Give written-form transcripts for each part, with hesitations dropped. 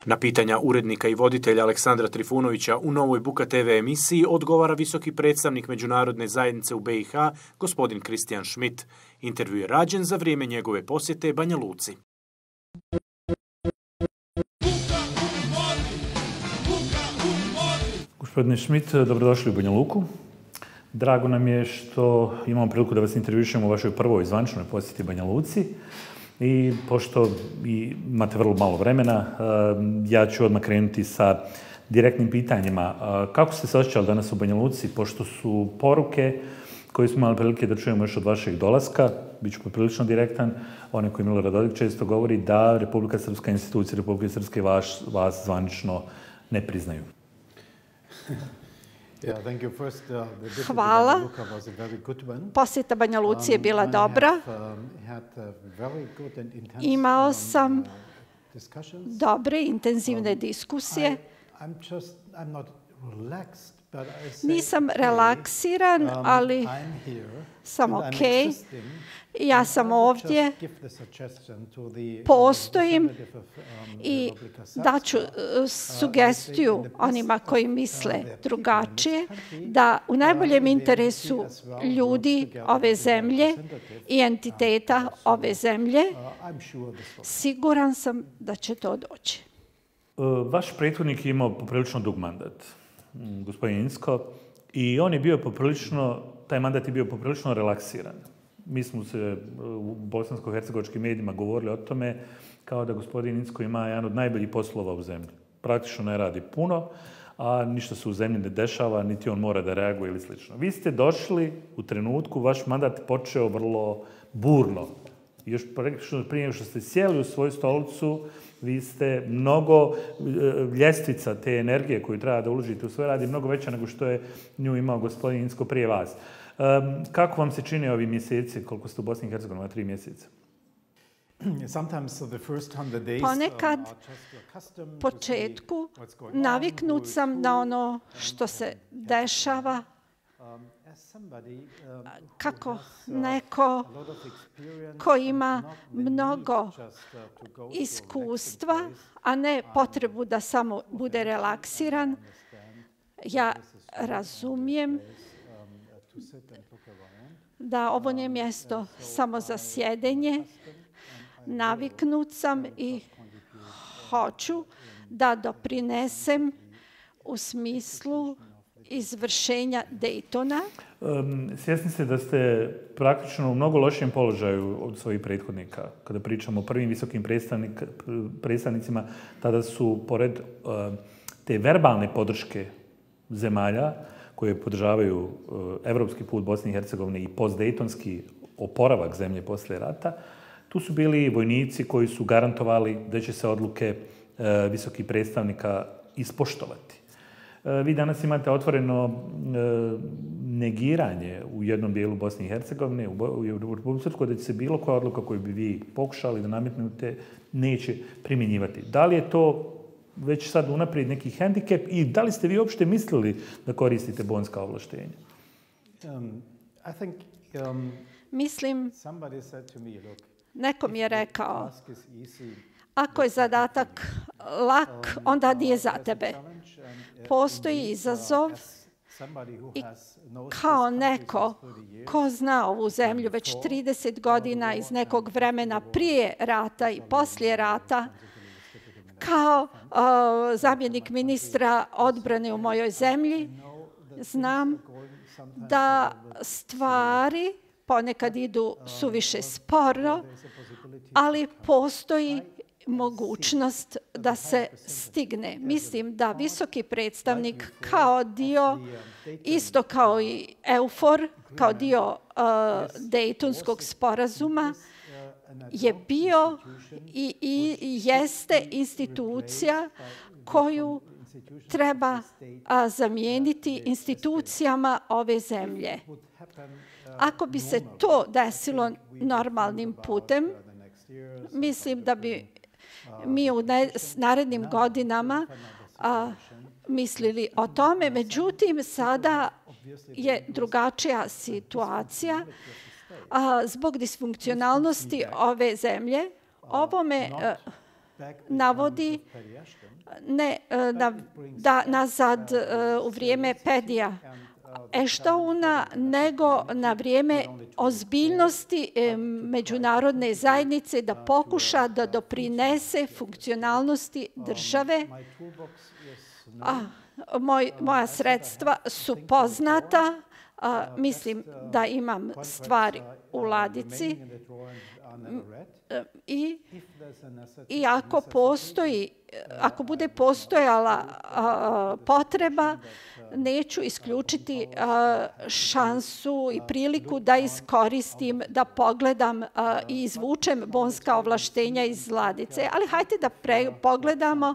Na pitanja urednika i voditelja Aleksandra Trifunovića u novoj Buka TV emisiji odgovara visoki predstavnik Međunarodne zajednice u BiH, gospodin Kristijan Schmidt. Intervju je rađen za vrijeme njegove posjete Banja Luci. Gospodine Schmidt, dobrodošli u Banja Luku. Drago nam je što imamo priliku da vas intervjušemo u vašoj prvoj zvančnoj posjeti Banja Luci. I pošto imate vrlo malo vremena, ja ću odmah krenuti sa direktnim pitanjima. Kako ste se osjećali danas u Banja Luci, pošto su poruke koje smo imali prilike da čujemo još od vašeg dolaska, bit ću poprilično direktan, one koje Milorad Dodik često govori da Republika Srpska, institucije Republike Srpske vas zvanično ne priznaju. Hvala. Posjeta Banja Luci je bila dobra. Imao sam dobre, intenzivne diskusije. Nisam relaksiran, ali sam okej. Ja sam ovdje, postojim i daću sugestiju onima koji misle drugačije, da u najboljem interesu ljudi ove zemlje i entiteta ove zemlje, siguran sam da će to doći. Vaš prethodnik je imao poprilično dug mandat, gospodin Incko, i on je bio taj mandat je bio poprilično relaksiran. Mi smo se u bosansko-hercegovačkim medijima govorili o tome kao da gospodin Incko ima jedan od najboljih poslova u zemlji. Praktično ne radi puno, a ništa se u zemlji ne dešava, niti on mora da reaguje ili slično. Vi ste došli u trenutku, vaš mandat počeo vrlo burno. Još prije što ste sjeli u svoju stolicu, vi ste mnogo ljestvica te energije koju treba da uložite u svoj rad je mnogo veća nego što je nju imao gospodin Incko prije vas. Kako vam se čine ovi mjeseci, koliko ste u Bosni i Hercegovini, 3 mjeseca? Ponekad, početku, naviknut sam na ono što se dešava, kako neko ko ima mnogo iskustva, a ne potrebu da samo bude relaksiran. Ja razumijem da ovo nije mjesto samo za sjedenje. Naviknut sam i hoću da doprinesem u smislu izvršenja Daytona. Svjesni ste da ste praktično u mnogo lošijem položaju od svojih prethodnika. Kada pričamo o prvim visokim predstavnicima, tada su, pored te verbalne podrške zemalja koje podržavaju evropski put Bosne i Hercegovine i postdejtonski oporavak zemlje poslije rata, tu su bili vojnici koji su garantovali da će se odluke visokih predstavnika ispoštovati. Vi danas imate otvoreno negiranje u jednom dijelu Bosne i Hercegovine, u Republike Srpskoj, da će se bilo koja odluka koju bi vi pokušali da nametnete neće primjenjivati. Da li je to već sad unaprijed neki hendikep i da li ste vi uopšte mislili da koristite bonska ovlaštenja? Mislim, neko mi je rekao, ako je zadatak lak, onda nije za tebe. Postoji izazov i kao neko ko zna ovu zemlju već 30 godina iz nekog vremena prije rata i poslije rata, kao zamjenik ministra odbrane u mojoj zemlji, znam da stvari ponekad idu suviše sporo, ali postoji mogućnost da se stigne. Mislim da visoki predstavnik kao dio, isto kao i EUFOR, kao dio Dejtonskog sporazuma, je bio i jeste institucija koju treba zamijeniti institucijama ove zemlje. Ako bi se to desilo normalnim putem, mislim da bi mi u narednim godinama mislili o tome. Međutim, sada je drugačija situacija zbog disfunkcionalnosti ove zemlje. Ovo me navodi ne nazad u vrijeme Pedija Ashtouna, nego na vrijeme ozbiljnosti međunarodne zajednice da pokuša da doprinese funkcionalnosti države. Moja sredstva su poznata. Mislim da imam stvari u ladici. I ako bude postojala potreba, neću isključiti šansu i priliku da iskoristim, da pogledam i izvučem bonska ovlaštenja iz ladice. Ali hajde da pogledamo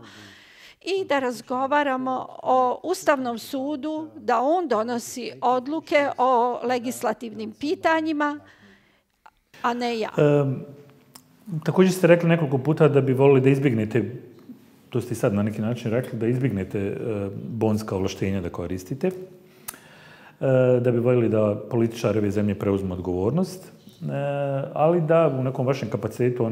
i da razgovaramo o Ustavnom sudu, da on donosi odluke o legislativnim pitanjima, a ne ja. Također ste rekli nekoliko puta da bi volili da izbjegnete, to ste i sad na neki način rekli, da izbjegnete bonska ovlaštenja da koristite, da bi voljeli da političari ove zemlje preuzmu odgovornost, ali da u nekom vašem kapacitetu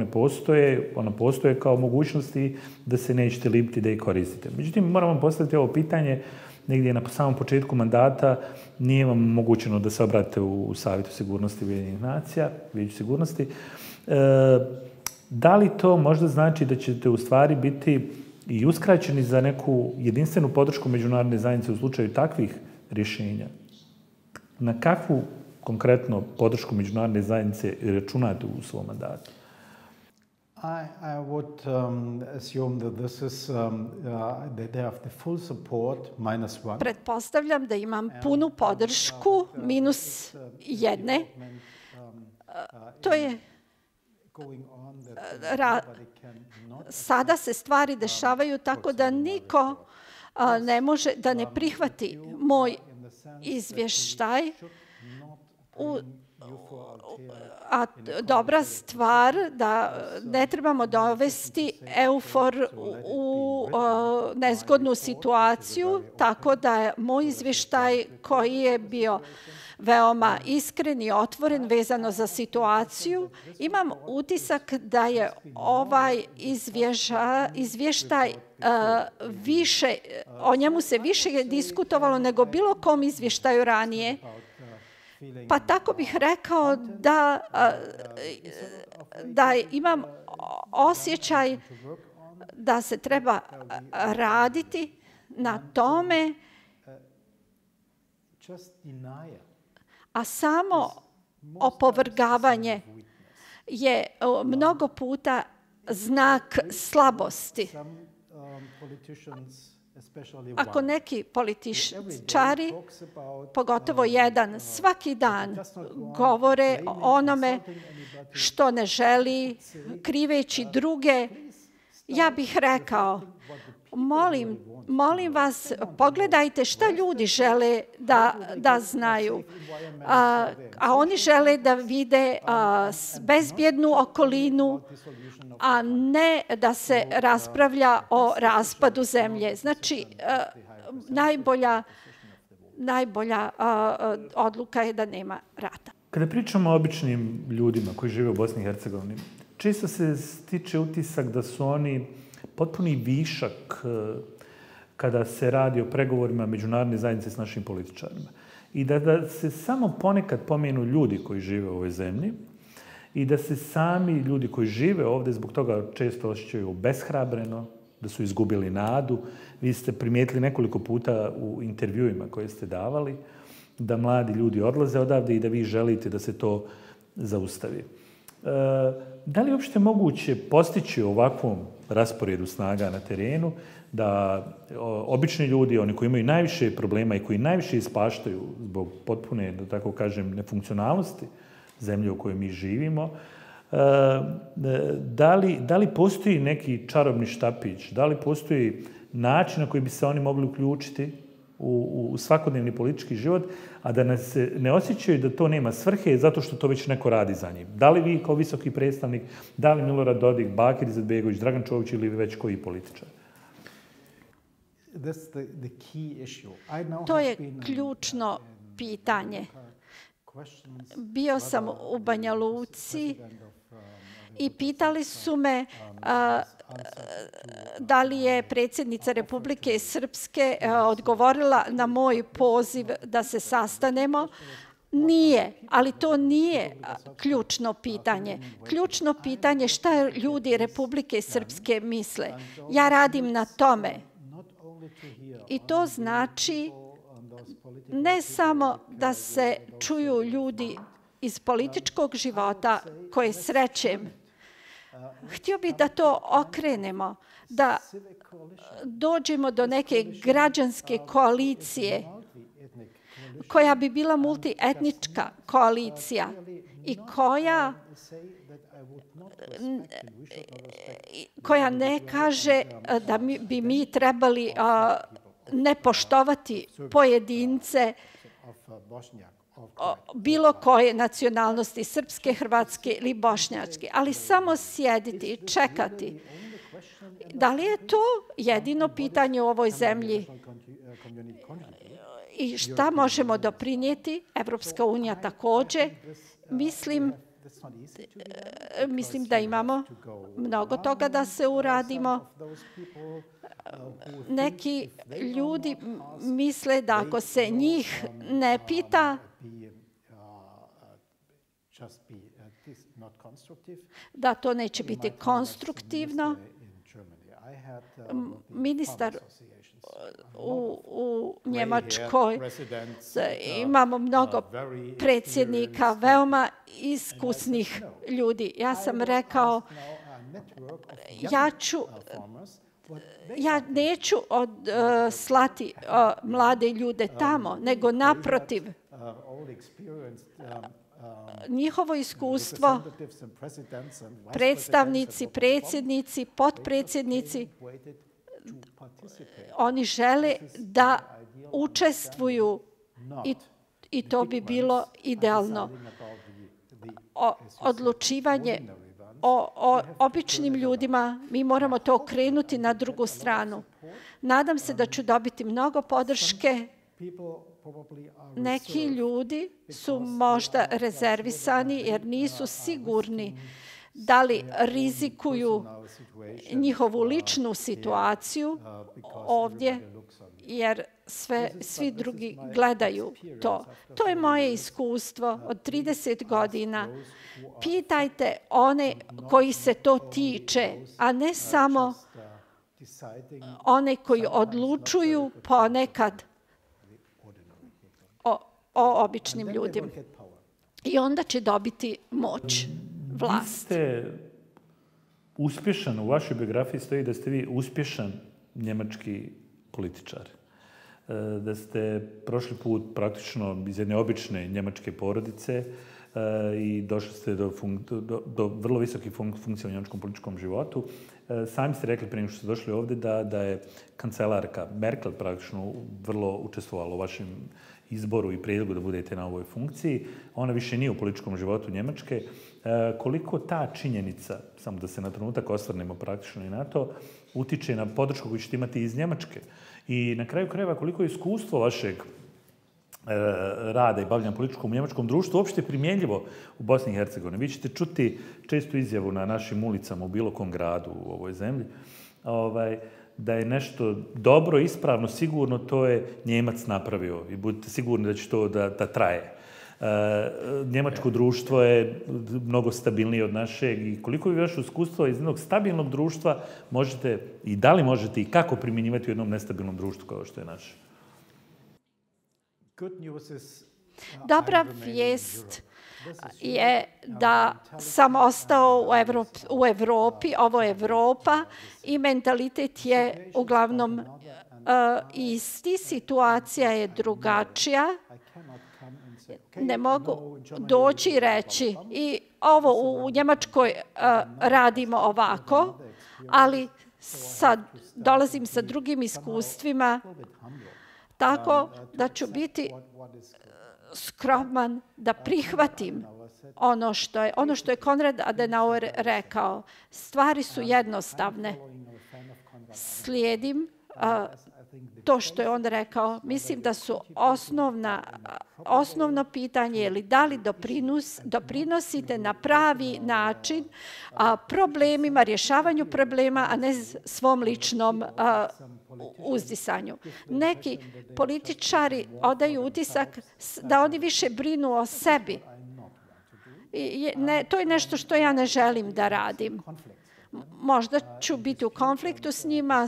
ona postoje kao mogućnosti da se nećete libiti da ih koristite. Međutim, moram vam postaviti ovo pitanje, negdje na samom početku mandata nije vam omogućeno da se obratite u Savjetu sigurnosti Ujedinjenih nacija, Vijeću sigurnosti. Da li to možda znači da ćete u stvari biti i uskraćeni za neku jedinstvenu podršku međunarodne zajednice u slučaju takvih rješenja? Na kakvu konkretno podršku međunarodne zajednice računate u svom mandatu? I would assume that this is that they have the full support -1. Pretpostavljam da imam punu podršku -1. To je sada se stvari dešavaju tako da niko ne može da ne prihvati moj izvještaj. A dobra stvar da ne trebamo dovesti EUFOR u nezgodnu situaciju, tako da je moj izvještaj koji je bio veoma iskren i otvoren vezano za situaciju. Imam utisak da je ovaj izvještaj više, o njemu se više diskutovalo nego bilo kom izvještaju ranije. Pa tako bih rekao da imam osjećaj da se treba raditi na tome, a samo opovrgavanje je mnogo puta znak slabosti. Ako neki političari, pogotovo jedan, svaki dan govore o onome što ne želi, kriveći druge, ja bih rekao, molim vas, pogledajte šta ljudi žele da znaju. A oni žele da vide bezbjednu okolinu, a ne da se raspravlja o raspadu zemlje. Znači, najbolja odluka je da nema rata. Kada pričamo o običnim ljudima koji žive u Bosni i Hercegovini, često se stiče utisak da su oni potpuni višak kada se radi o pregovorima međunarodne zajednice s našim političarima. I da se samo ponekad pomenu ljudi koji žive u ovoj zemlji i da se sami ljudi koji žive ovdje zbog toga često osjećaju obeshrabreno, da su izgubili nadu. Vi ste primijetili nekoliko puta u intervjuima koje ste davali da mladi ljudi odlaze odavde i da vi želite da se to zaustavi. Da li je uopšte moguće postići ovakvom rasporedu snaga na terenu da obični ljudi, oni koji imaju najviše problema i koji najviše ispaštaju zbog potpune, da tako kažem, nefunkcionalnosti zemlje u kojoj mi živimo, da li postoji neki čarobni štapić, da li postoji način na koji bi se oni mogli uključiti u svakodnevni politički život, a da nas ne osjećaju da to nema svrhe zato što to već neko radi za njim. Da li vi kao visoki predstavnik, da li Milorad Dodik, Bakir Izetbegović, Dragan Čović ili već koji političar? To je ključno pitanje. Bio sam u Banja Luci i pitali su me da li je predsjednica Republike Srpske odgovorila na moj poziv da se sastanemo. Nije, ali to nije ključno pitanje. Ključno pitanje je šta ljudi Republike Srpske misle. Ja radim na tome. I to znači ne samo da se čuju ljudi iz političkog života koje srećem. Htio bih da to okrenemo, da dođemo do neke građanske koalicije koja bi bila multietnička koalicija i koja ne kaže da bi mi trebali ne poštovati pojedince bilo koje nacionalnosti, srpske, hrvatske ili bošnjačke, ali samo sjediti i čekati. Da li je to jedino pitanje u ovoj zemlji? I šta možemo doprinijeti? Evropska unija također. Mislim da imamo mnogo toga da se uradimo. Neki ljudi misle da ako se njih ne pita, da to neće biti konstruktivno. Ministar u Njemačkoj imamo mnogo predsjednika, veoma iskusnih ljudi. Ja sam rekao, ja neću slati mlade ljude tamo, nego naprotiv. Njihovo iskustvo, predstavnici, predsjednici, potpredsjednici, oni žele da učestvuju i to bi bilo idealno. Odlučivanje o običnim ljudima, mi moramo to okrenuti na drugu stranu. Nadam se da ću dobiti mnogo podrške. Neki ljudi su možda rezervisani jer nisu sigurni da li rizikuju njihovu ličnu situaciju ovdje, jer svi drugi gledaju to. To je moje iskustvo od 30 godina. Pitajte one koji se to tiče, a ne samo one koji odlučuju ponekad o običnim ljudima. I onda će dobiti moć, vlast. Vi ste uspješan, u vašoj biografiji stoji da ste vi uspješan njemački političar. Da ste prošli put praktično iz jedne obične njemačke porodice i došli ste do vrlo visokih funkcija u njemačkom političkom životu. Sami ste rekli prije nego što ste došli ovdje da je kancelarka Merkel praktično vrlo učestvovala u vašem izboru i prijedlogu da budete na ovoj funkciji. Ona više nije u političkom životu Njemačke. Koliko ta činjenica, samo da se na trenutak osvrnemo praktično i na to, utiče na podršku koju ćete imati iz Njemačke? I na kraju krajeva koliko je iskustvo vašeg rada i bavljanja političkom u njemačkom društvu uopšte primjenjivo u Bosni i Hercegovini? Vi ćete čuti čestu izjavu na našim ulicama u bilo kom gradu u ovoj zemlji, da je nešto dobro, ispravno, sigurno, to je Njemac napravio i budite sigurni da će to da traje. Njemačko društvo je mnogo stabilnije od našeg i koliko vi vaše iskustvo iz jednog stabilnog društva možete i da li možete i kako primjenjivati u jednom nestabilnom društvu kao što je naše? Dobra vijest je da sam ostao u Evropi, ovo je Evropa i mentalitet je uglavnom isti, situacija je drugačija. Ne mogu doći i reći i ovo u Njemačkoj radimo ovako, ali sad dolazim sa drugim iskustvima tako da ću biti skroman da prihvatim ono što je Konrad Adenauer rekao. Stvari su jednostavne. Slijedim to što je on rekao, mislim da su osnovno pitanje je li da li doprinosite na pravi način problemima, rješavanju problema, a ne svom ličnom uzdisanju. Neki političari odaju utisak da oni više brinu o sebi. To je nešto što ja ne želim da radim. Možda ću biti u konfliktu s njima,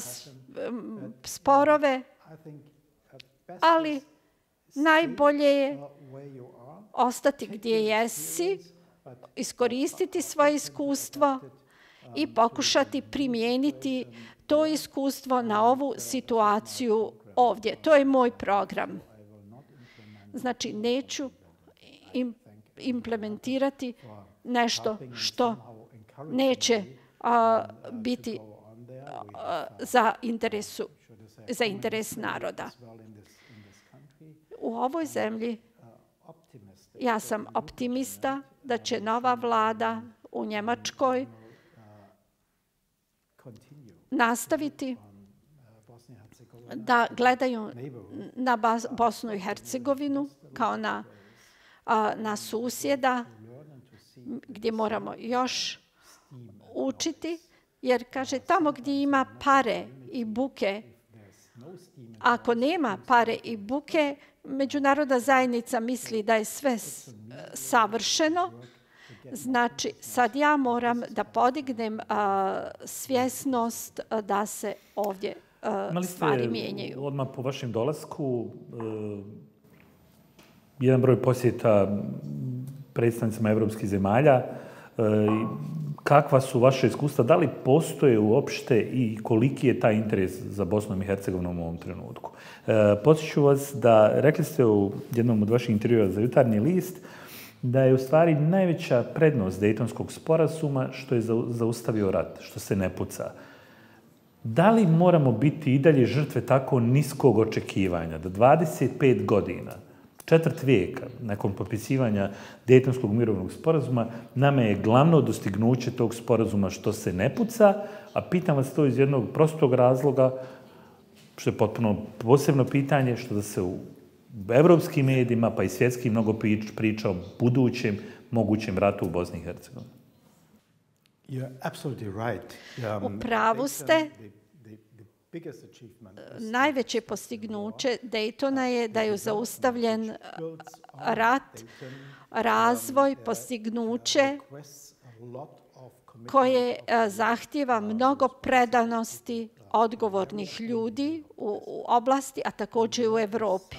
sporove, ali najbolje je ostati gdje jesi, iskoristiti svoje iskustvo i pokušati primijeniti to iskustvo na ovu situaciju ovdje. To je moj program. Znači, neću implementirati nešto što neće biti za interes naroda. U ovoj zemlji ja sam optimista da će nova vlada u Njemačkoj nastaviti da gledaju na Bosnu i Hercegovinu kao na susjeda gdje moramo još učiti, jer kaže tamo gdje ima pare i buke, ako nema pare i buke, međunarodna zajednica misli da je sve savršeno. Znači, sad ja moram da podignem svjesnost da se ovdje stvari mijenjaju. Odmah po vašem dolasku jedan broj posjeta predstavnicima evropskih zemalja. Kakva su vaše iskustva? Da li postoje uopšte i koliki je taj interes za Bosnom i Hercegovinom u ovom trenutku? Podsjeću vas da, rekli ste u jednom od vaših intervjua za Jutarnji list, da je u stvari najveća prednost Dejtonskog sporazuma što je zaustavio rat, što se ne puca. Da li moramo biti i dalje žrtve tako niskog očekivanja, da 25 godina, četvrt vijeka nakon potpisivanja Dejtonskog mirovnog sporazuma, nama je glavno dostignuće tog sporazuma što se ne puca, a pitam vas to iz jednog prostog razloga, što je potpuno posebno pitanje, što da se u evropskim medijima, pa i svjetskim, mnogo priča o budućem mogućem ratu u Bosni i Hercegovini. U pravu ste. Najveće postignuće Daytona je da je zaustavljen rat, razvoj, postignuće koje zahtijeva mnogo predanosti odgovornih ljudi u oblasti, a također u Evropi.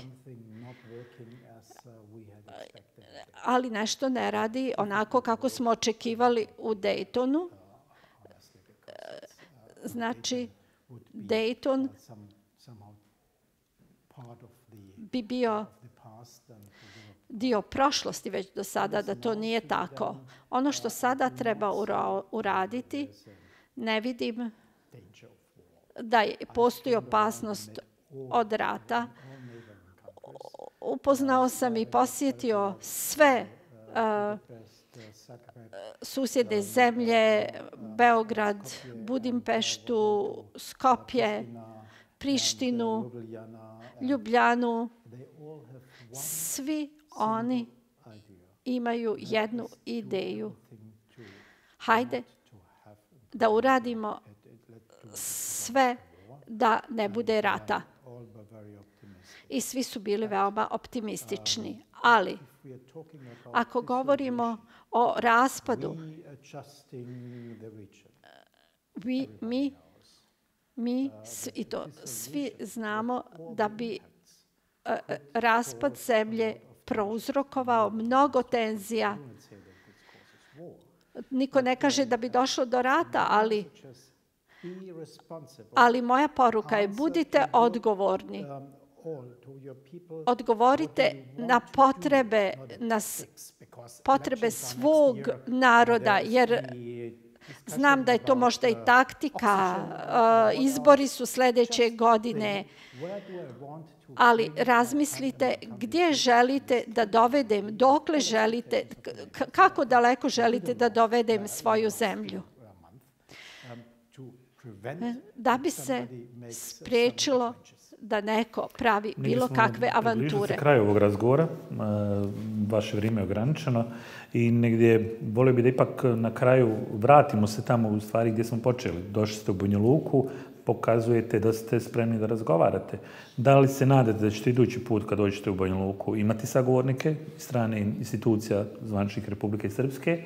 Ali nešto ne radi onako kako smo očekivali u Daytonu. Znači, Dayton bi bio dio prošlosti već do sada, da to nije tako. Ono što sada treba uraditi, ne vidim da postoji opasnost od rata. Upoznao sam i posjetio sve susjedne zemlje, Beograd, Budimpeštu, Skopje, Prištinu, Ljubljanu. Svi oni imaju jednu ideju. Hajde da uradimo sve da ne bude rata. I svi su bili veoma optimistični. Ali, ako govorimo o raspadu, mi i to svi znamo da bi raspad zemlje prouzrokovao mnogo tenzija. Niko ne kaže da bi došlo do rata, ali moja poruka je budite odgovorni. Odgovorite na potrebe svog naroda, jer znam da je to možda i taktika, izbori su sljedeće godine, ali razmislite gdje želite da dovedem, dokle želite, kako daleko želite da dovedem svoju zemlju. da bi se spriječilo da neko pravi bilo kakve avanture. Približili se kraju ovog razgovora, vaše vrijeme je ograničeno i negdje volio bi da ipak na kraju vratimo se tamo u stvari gdje smo počeli. Došli ste u Banja Luku, pokazujete da ste spremni da razgovarate. Da li se nadate da ćete idući put kad dođete u Banja Luku imati sagovornike strane institucija zvaničnih Republike Srpske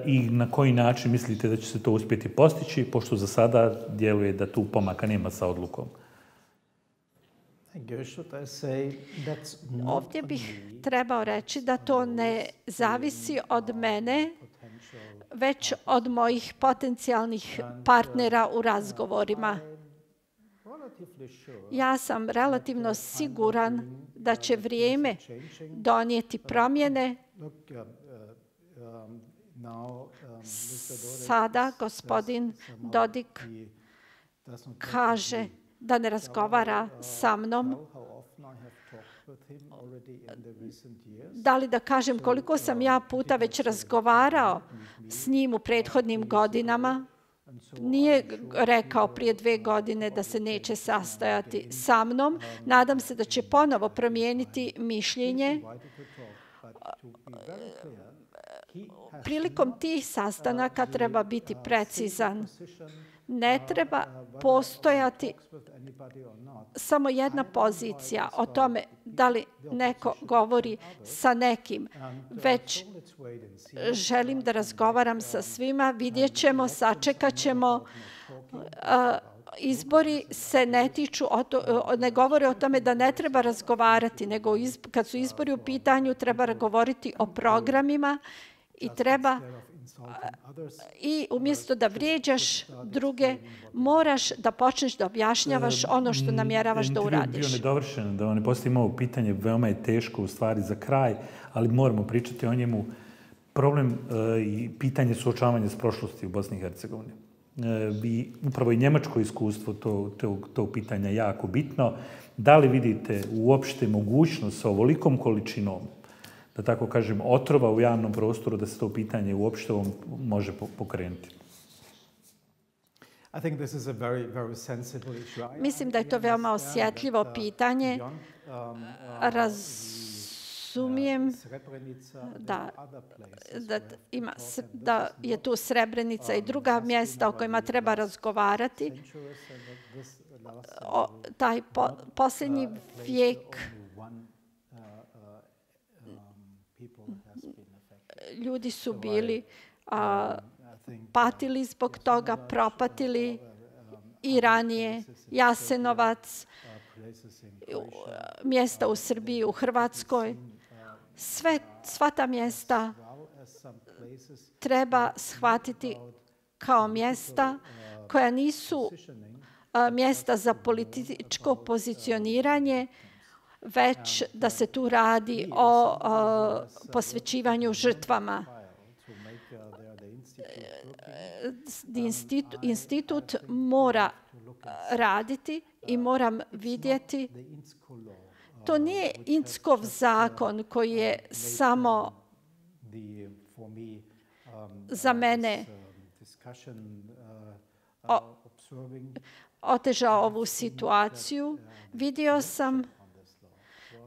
i na koji način mislite da će se to uspjeti postići, pošto za sada djeluje da tu pomaka nema sa odlukom? Ovdje bih trebao reći da to ne zavisi od mene, već od mojih potencijalnih partnera u razgovorima. Ja sam relativno siguran da će vrijeme donijeti promjene. Sada gospodin Dodik kaže da ne razgovara sa mnom. Da li da kažem koliko sam ja puta već razgovarao s njim u prethodnim godinama? Nije rekao prije 2 godine da se neće sastajati sa mnom. Nadam se da će ponovo promijeniti mišljenje. Prilikom tih sastanaka treba biti precizan. Ne treba postojati samo jedna pozicija o tome da li neko govori sa nekim, već želim da razgovaram sa svima, vidjet ćemo, sačekat ćemo. Izbori se ne govore o tome da ne treba razgovarati, nego kad su izbori u pitanju treba govoriti o programima i umjesto da vrijeđaš druge, moraš da počneš da objašnjavaš ono što namjeravaš da uradiš. Bio nedovršen, da ne postavimo ovo pitanje, veoma je teško u stvari za kraj, ali moramo pričati o njemu. Problem i pitanje suočavanja s prošlosti u Bosni i Hercegovini. Upravo i njemačko iskustvo tog pitanja je jako bitno. Da li vidite uopšte mogućnost sa ovolikom količinom, da tako kažem, otrova u javnom prostoru, da se to pitanje uopšte može pokrenuti? Mislim da je to veoma osjetljivo pitanje. Razumijem da je tu Srebrenica i druga mjesta o kojima treba razgovarati. Taj posljednji vijek ljudi su bili patili zbog toga, propatili i ranije. Jasenovac, mjesta u Srbiji, u Hrvatskoj. Sva ta mjesta treba shvatiti kao mjesta koja nisu mjesta za političko pozicioniranje, već da se tu radi o posvećivanju žrtvama. Institut mora raditi i moram vidjeti. To nije Inckov zakon koji je samo za mene otežao ovu situaciju. Vidio sam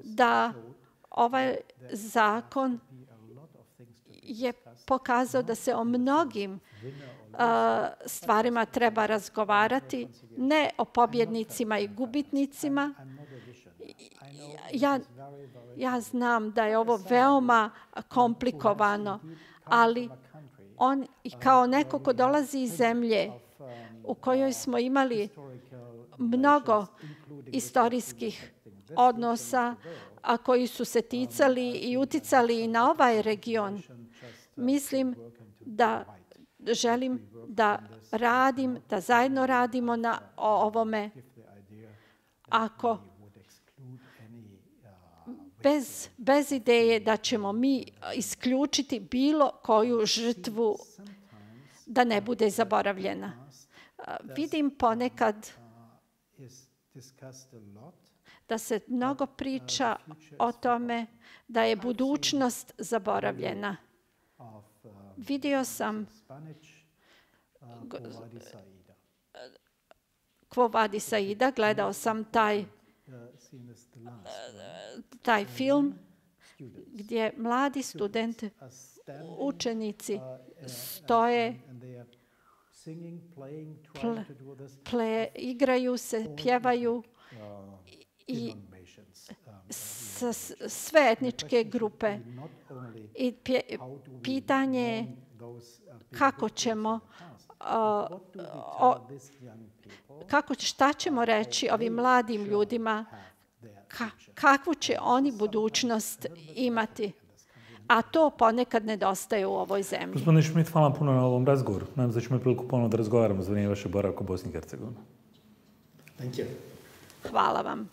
da ovaj zakon je pokazao da se o mnogim stvarima treba razgovarati, ne o pobjednicima i gubitnicima. Ja znam da je ovo veoma komplikovano, ali on, kao neko ko dolazi iz zemlje u kojoj smo imali mnogo istorijskih odnosa, a koji su se ticali i uticali i na ovaj region, mislim da želim da zajedno radimo o ovome. Ako bez ideje da ćemo mi isključiti bilo koju žrtvu da ne bude zaboravljena. Vidim ponekad da se mnogo priča o tome da je budućnost zaboravljena. Vidio sam Quo Vadis Aida, gledao sam taj film gdje mladi studenti, učenici stoje, igraju se, pjevaju i sve etničke grupe. I pitanje je kako ćemo šta ćemo reći ovim mladim ljudima, kakvu će oni budućnost imati. A to ponekad nedostaje u ovoj zemlji. Gospodine Schmidt, hvala puno na ovom razgovoru. Nadam se da ćemo priliku ponovno da razgovaramo za vrijeme vaše boravka u Bosni i Hercegovini. Hvala vam.